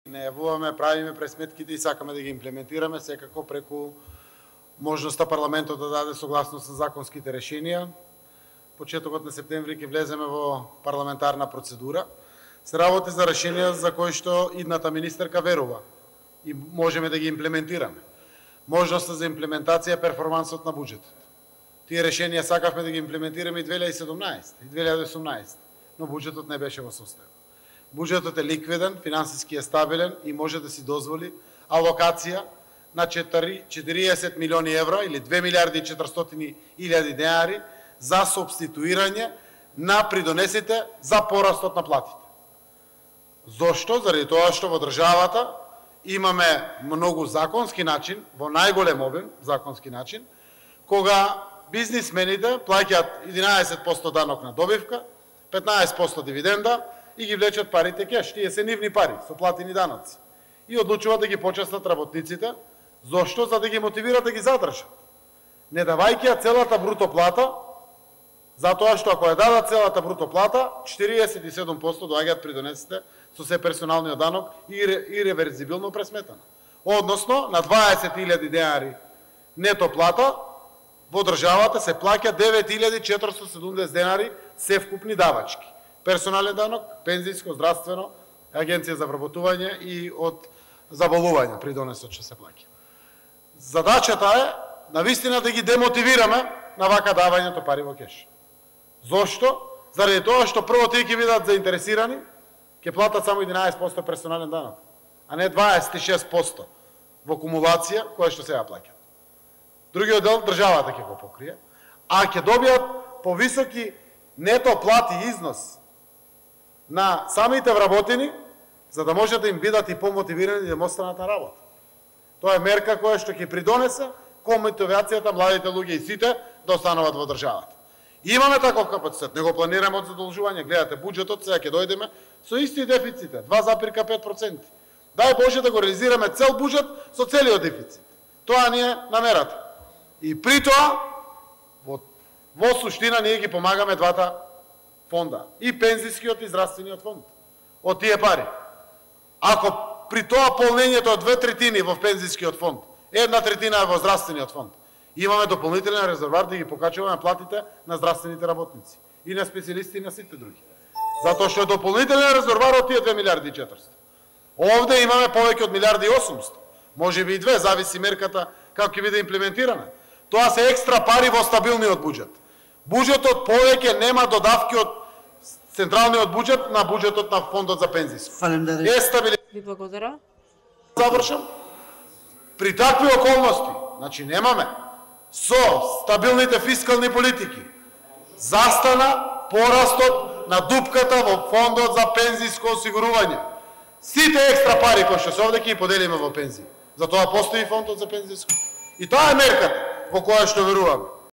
Не јавуваме, правиме пресметките и сакаме да ги имплементираме секако преку можноста парламентот да даде согласност со законските решенија. Почетокот на септември ќе влеземе во парламентарна процедура. Се работи за решенија за кои што идната министерка верува и можеме да ги имплементираме. Можноста за имплементација е перформансот на буџетот. Тие решенија сакавме да ги имплементираме и 2017 и 2018, но буџетот не беше во состојба. Буџетот е ликвиден, финансиски е стабилен и може да си дозволи алокација на 40 милиони евра или 2 милиарди и 400 илјади денари за субституирање на придонесите за порастот на платите. Зошто? Заради тоа што во државата имаме многу законски начин, во најголем обем законски начин, кога бизнисмените плаќаат 11% данок на добивка, 15% дивиденда и ги влечат парите кеш. Тие се нивни пари, со платени даноци. И одлучуваат да ги почастат работниците. Зошто? За да ги мотивират да ги задржат. Не давајќи целата бруто плата, затоа што ако ја дадат целата бруто плата, 47% доаѓаат придонесите со се персоналниот данок и реверзибилно пресметано. Односно, на 20.000 денари нето плата, во државата се плаќа 9.470 денари севкупни давачки. Персонален данок, пензиско, здравствено, агенција за вработување и од заболување придонесот што се плаќа. Задачата е навистина да ги демотивираме на вака давањето пари во кеш. Зошто? Заради тоа што прво тие ќе бидат заинтересирани, ќе платат само 11% персонален данок, а не 26% во кумулација која што сега плаќат. Другиот дел државата ќе го покрие, а ќе добијат повисоки нето плати износ на самите вработени, за да може да им бидат и помотивирани да останат на работа. Тоа е мерка која што ќе придонесе кон мотивацијата младите луѓе и сите да остануваат во државата. И имаме таков капацитет, не го планираме од задолжување. Гледате, буџетот сега ќе дојдеме со исти дефиците, 2,5%. Дај Боже да го реализираме цел буџет со целиот дефицит. Тоа ни е намерата. И при тоа, во суштина, ние ги помагаме двата фонда. И пензискиот и здравствениот фонд. Од тие пари. Ако при тоа полнењето од 2/3 во пензискиот фонд, 1/3 е во здравствениот фонд, имаме дополнителен резервар да ги покачуваме платите на здравствените работници. И на специјалисти и на сите други. Затоа што е дополнителен резервар од тие 2 милиарди и 400. Овде имаме повеќе од 1 милиарди и 800. Може би и 2, зависи мерката како ќе биде имплементирана. Тоа се екстра пари во стабилниот буџет. Буџетот повеќе нема додавки од централниот буџет на буџетот на фондот за пензиско. Е стабилизација. Ви благодарам. Завршам. При такви околности, значи немаме со стабилните фискални политики застана порастот на дупката во фондот за пензиско осигурување. Сите екстра пари кои што се овде ќе ги поделиме во пензии. Затоа постои фондот за пензиско. И тоа е мерката во која што веруваме.